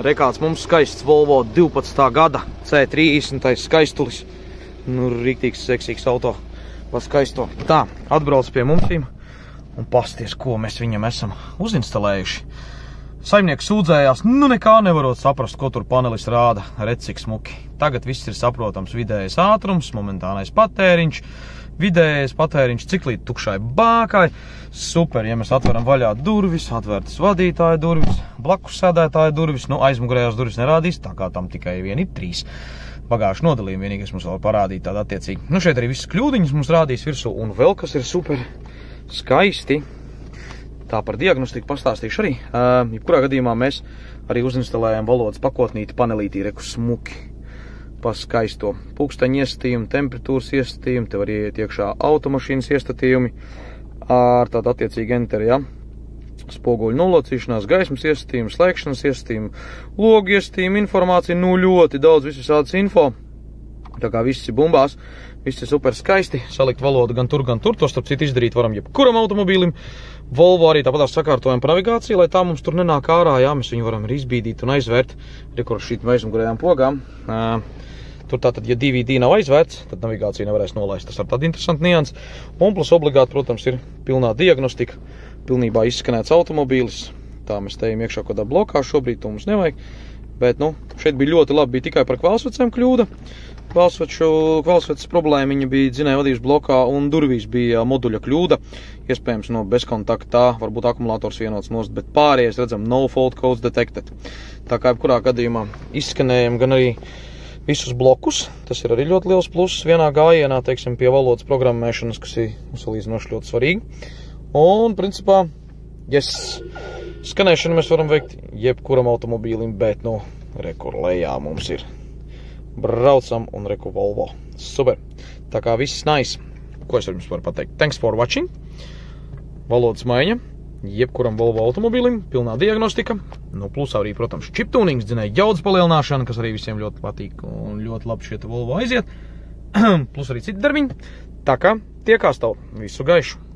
Rekāds mums skaists Volvo 12. gada C30 skaistulis. Nu, riktīgs, seksīgs auto. Pa skaisto. Tā, atbrauc pie mums un pasties, ko mēs viņam esam uzinstalējuši. Saimnieks sūdzējās, nu nekā nevarot saprast, ko tur panelis rāda. Redz, cik smuki. Tagad viss ir saprotams: vidējais ātrums, momentānais patēriņš, vidējais patēriņš, cik līdz tukšai bākai. Super, ja mēs atveram vaļā durvis, atvērtas vadītāja durvis, blakus sēdētāja durvis, nu aizmugurējās durvis nerādīs, tā kā tam tikai vien ir 3 bagāžu nodalījumi, vienīgais mums vēl parādīt tādu attiecīgi. Nu šeit arī visas kļūdiņas mums rādīs virsū, un vēl kas ir super skaisti. Tā par diagnostiku pastāstīšu arī. Jebkurā gadījumā mēs arī uzinstalējam valodas pakotnīti panelītī, reku smuki. Pa skaisto pulksteņu iestatījumi, temperatūras iestatījumi, te var ieiet iekšā automašīnas iestatījumi ar tādu attiecīgi enteri, ja? Spoguļu nolocīšanās, gaismas iestatījumi, slēgšanas iestatījumi, logu iestatījumi, informācija, nu ļoti daudz visādas info. Tā kā viss ir bumbās, viss ir super skaisti, salikt valodu gan tur, to starp citu izdarīt varam jebkuram automobīlim. Volvo arī tāpatās sakārtojam pa navigāciju, lai tā mums tur nenāk ārā, jā, mēs viņu varam arī izbīdīt un aizvērt, rekur šīt aizmugurējām pogām. Tur tātad, ja DVD nav aizvērts, tad navigācija nevarēs nolaist, tas ar tādu interesantu niansu. Un plus obligāti, protams, ir pilnā diagnostika, pilnībā izskanēts automobīlis. Tā mēs tejam iekšā kādā blokā, šobrīd to mums nevajag, bet, nu, šeit bija ļoti labi, bija tikai par kvēlsvecēm kļūda. Kvēlsveces problēma viņa bija dzinēja vadības blokā un durvīs bija moduļa kļūda. Iespējams no bezkontaktā, varbūt akumulators vienots nost, bet pārējais redzam no fault codes detected. Tā kā jebkurā gadījumā izskanējam gan arī visus blokus. Tas ir arī ļoti liels pluss vienā gājienā, teiksim, pie valodas programmēšanas, kas ir salīdzinoši ļoti svarīgi. Un, principā, skanēšanu mēs varam veikt jebkuram automobīlim, bet, nu, rekur lejā mums ir. Braucam un reku Volvo. Super. Tā kā viss nice. Ko es jums varu pateikt? Thanks for watching. Valodas maiņa. Jebkuram Volvo automobīlim. Pilnā diagnostika. Nu, plus arī, protams, chip tunings, dzinēja jaudas palielināšana, kas arī visiem ļoti patīk un ļoti labi šieta Volvo aiziet. Plus arī citi darbiņi. Tā kā tiekās tev. Visu gaišu.